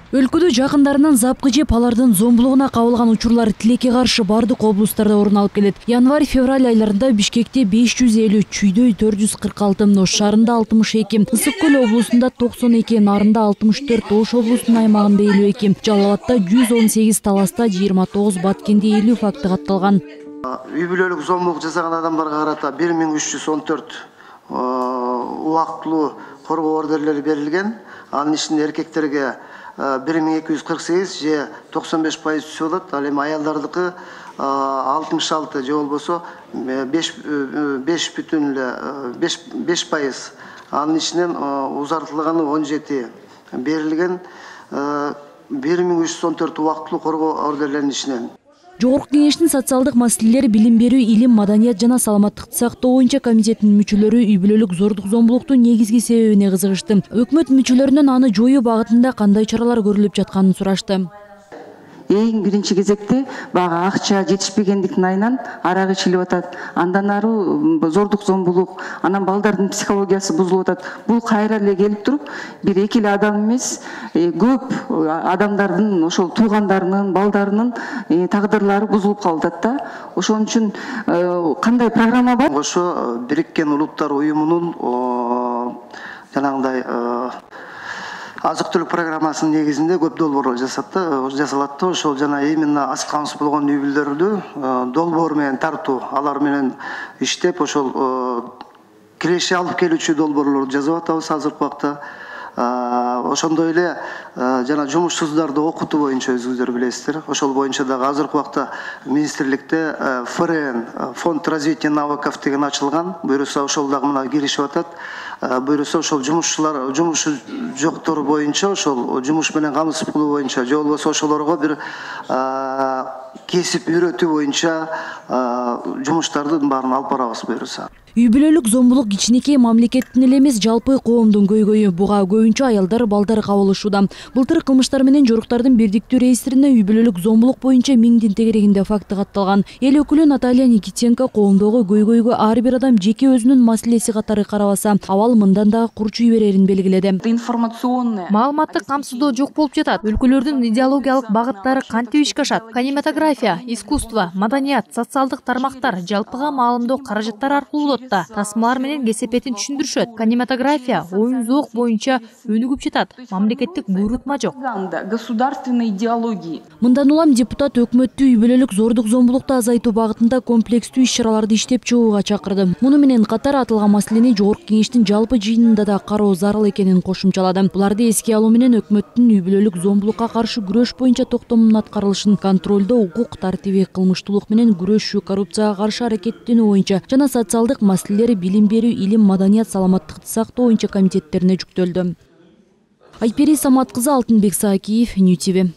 Өлкөдө жакындарынан запкы жеп алардын зомбулугуна кабылган учурлар тилекке каршы бардык облустарда орун алып келет. Январь-февраль айларында Бишкекте 550, Чүйдөй 446, Ош шаарында 62, Ысык көл облусунда 92, Нарында 64, Ош облусунун аймагында 52, Жалал Абадта 118, Таласта 29, Баткенде 50 факты катталган. Үй бүлөлүк зомбулук жасаган адамдарга карата 1314 убактылуу коргоо ордерлери берилген. Анын ичинде эркектерге 1248 же 95% түсүп алат. Ал эми аялдардыкы 66 же болбосо 5,5%. Анын ичинен узартылганы 17 берилген. 1314 убактылуу коргоо ордерлеринин ичинен. Жогорку кеңештин социалдык маселелер, билим берүү, илим, маданият жана саламаттыкты сактоо боюнча комитетинин мүчөлөрү үй бүлөлүк зордук зомбулуктун негизги себебине кызыгышты. Өкмөт мүчөлөрүнөн аны жоюу багытында кандай чаралар көрүлүп жатканын сурашты. Эң биринчи кезекте бага акча жетишпегендиктин айынан арак ичилип атат. Андан ары зордук зомбулук, анан балдардын психологиясы бузулуп атат. Бул кайра эле келип туруп, бир эки эле адам эмес, көп адамдардын, ошол туугандарынын, балдарынын тагдырлары бузулуп калып атат да. Ошон үчүн кандай программа бар? Ошо Бириккен Улуттар уюмунун жанагындай азык-түлүк программасынын негизинде көп долбоорлор жасалат да. Ошол жана именно аз камсыз болгон үй бүлөлөрдү долбоор менен тартуу, алар менен иштеп, ошол киреше алып келүүчү долбоорлорду жазып атабыз азыркы убакта. Ошондой эле жана жумушсуздарды окутуу боюнча өзүңүздөр билесиздер. Ошол боюнча дагы азыркы убакта министрликте ФРН, фонд развития навыков деген ачылган. Буюрса ошол дагы мына киришип атат. Буюрса ошол жумушчулар, жумушу жоктор боюнча, ошол жумуш менен камсыз кылуу боюнча, же болбосо ошолорго бир кесип үйрөтүү боюнча жумуштардын баарын алып барабыз буюрса. Үй бүлөлүк зомбулук кичинекей мамлекеттин эле эмес, жалпы коомдун көйгөйү. Буга көбүнчө аялдар, балдар кабылышууда. Былтыр кылмыштар менен жоруктардын бирдиктүү реестрине үй бүлөлүк зомбулук боюнча 1000 тегерегинде факты катталган. Эл өкүлү Наталья Никитенко коомдогу көйгөйгө ар бир адам жеке өзүнүн маселеси катары карабаса, абал мындан дагы курчуй берерин белгиледи. Маалыматтык камсыздоо жок болуп жатат. Өлкөлөрдүн идеологиялык багыттары кантип ишке ашат? Кинематография, искусство, маданият, социалдык тармактар жалпыга маалымдоо каражаттары аркылуу тасмалар менен кесепетин түшүндүрүшөт. Кинематография, оюн зоок боюнча өнүгүп жатат. Мамлекеттик буйрутма жок. Государственной идеологии. Мындан улам депутат өкмөттү үй бүлөлүк зордук зомбулукту азайтуу багытында комплекстүү иш-чараларды иштеп чыгууга чакырды. Муну менен катар аталган маселени жогорку кеңештин жалпы жыйынында да кароо зарыл экенин кошумчалады. Буларды эске алуу менен өкмөттүн үй бүлөлүк зомбулукка каршы күрөш боюнча токтомунун аткарылышын контролдоо, укук тартиби, кылмыштуулук менен күрөшүү, коррупцияга каршы аракеттенүү боюнча жана социалдык маселелери, билим берүү, илим, маданият, саламаттыкты сактоо боюнча комитеттерине жүктөлдү. Айпери Самат кызы, Алтынбек Саакиев, Нью ТВ.